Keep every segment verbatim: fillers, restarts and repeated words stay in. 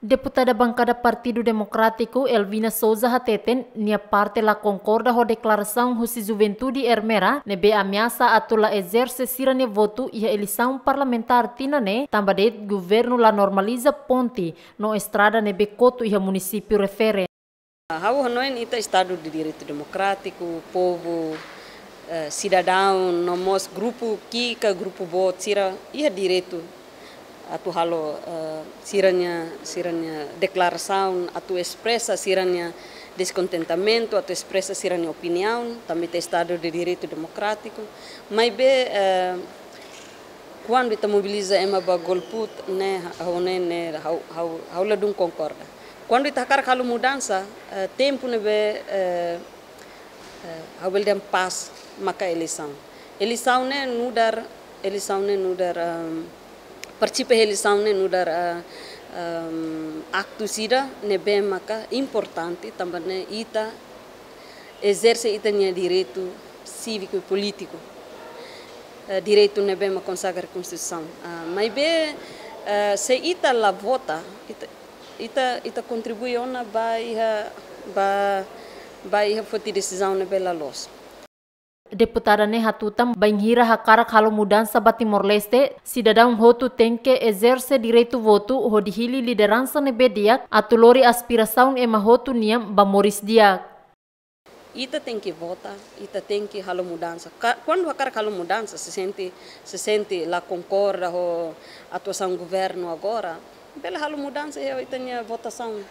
Deputada Bankada Partidu Demokrátiku Elvina Sousa hateten, nia parte la konkorda ho deklarasaun husi juventude Ermera ne'ebé ameasa atu la ezerse sira-nia votu iha eleisaun parlamentár tinan ne'e, tanba de'it governu la normaliza ponte no estrada ne'ebé kotu iha munisípiu refere. Ha'u hanoin ita Estadu de Direitu Demokrátiku, povu, eh, sidadaun, no mós grupu ki'ik ka grupu boot sira iha direitu atu halo, eh, sira-nia, sira-nia deklarasaun, atu espresa sira-nia deskontentamentu, atu espresa sira-nia opiniaun, tanba ita Estadu de Direitu Demokrátiku. Maibé, eh, kuandu ita mobiliza ema ba golput ne'e, ha'u ne'e, ne'e, ha'u, ha'u, ha'u ladún konkorda. Kuandu ita hakarak halo mudansa, eh, tempu ne'ebé, eh, eh, ha'u bele dehan pas maka eleisaun. Eleisaun ne'e nu'udar, eleisaun ne'e nu'udar, ehm, partisipa eleisaun ne'e nu'udar, eh, ehm, aktu ida ne'ebé maka importante, tanba ne'e ita ezerse ita-nia direitu síviku i polítiku. Eh, direitu ne'ebé mak konsagra Konstituisaun. Ah, maibé, eh, se ita la vota, ita, ita, ita kontribui ona ba iha, ba, ba iha foti desizaun ne'ebé la loos. Deputada ne'e hatutan, bainhira hakarak halo mudansa ba Timor-Leste, sidadaun hotu tenke ezerse direitu votu hodi hili lideransa ne'ebé di'ak atu lori aspirasaun ema hotu nian ba moris di'ak. Ita tenke vota, ita tenke halo mudansa. Ka-, kuandu hakarak halo mudansa, se sente, se sente la konkorda ho atuasaun governu agora, bele halo mudansa iha ita-nia votasaun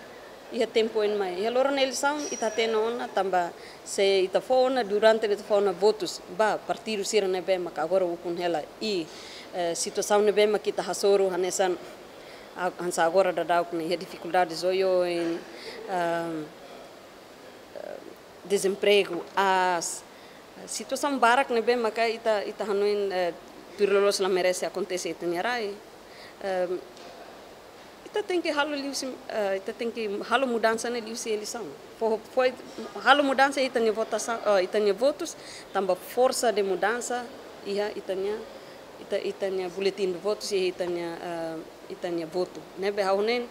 iha tempu oin mai. Iha loron eleisaun ita hatene ona, tanba se ita fó ona, durante ita fó ona votus ba partidu sira ne'ebé maka agora ukun hela i, eh, situasaun ne'ebé maka ita hasoru hanesan a-, hanesan agora daudaun ne'e iha difikuldades oioin, ehm, eh, dezempregu, aas, situasaun barak ne'ebé maka ita, ita hanoin, eh, tuir loloos la merese akontese iha ita-nia rai. Ehm, ita tenke halo liuhusi, eh, ita tenke halo mudansa ne'e liuhusi eleisaun. Fó, fó, halo mudansa iha ita-nia votasaun, eh, ita-nia votus, tanba forsa de mudansa iha ita-nia, ita, ita-nia buletin de votus, iha ita-nia, eh, ita-nia votu. Ne'ebé ha'u hanoin,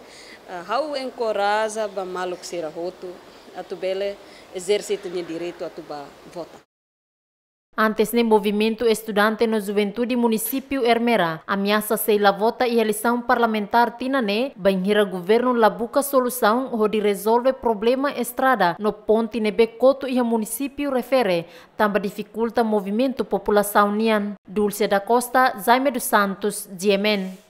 eh, ha'u enkoraja ba maluk sira hotu atu bele ezerse ita-nia direitu atu bá vota. Antes ne'e, movimentu estudante no juventude munisípiu Ermera ameasa sei la vota iha eleisaun parlamentár tinan ne'e, bainhira governu la buka solusaun hodi rezolve problema estrada no ponte ne'ebé kotu iha munisípiu refere, tanba difikulta movimentu populasaun nian. Dulce da Costa, Jaime dos Santos, G M N.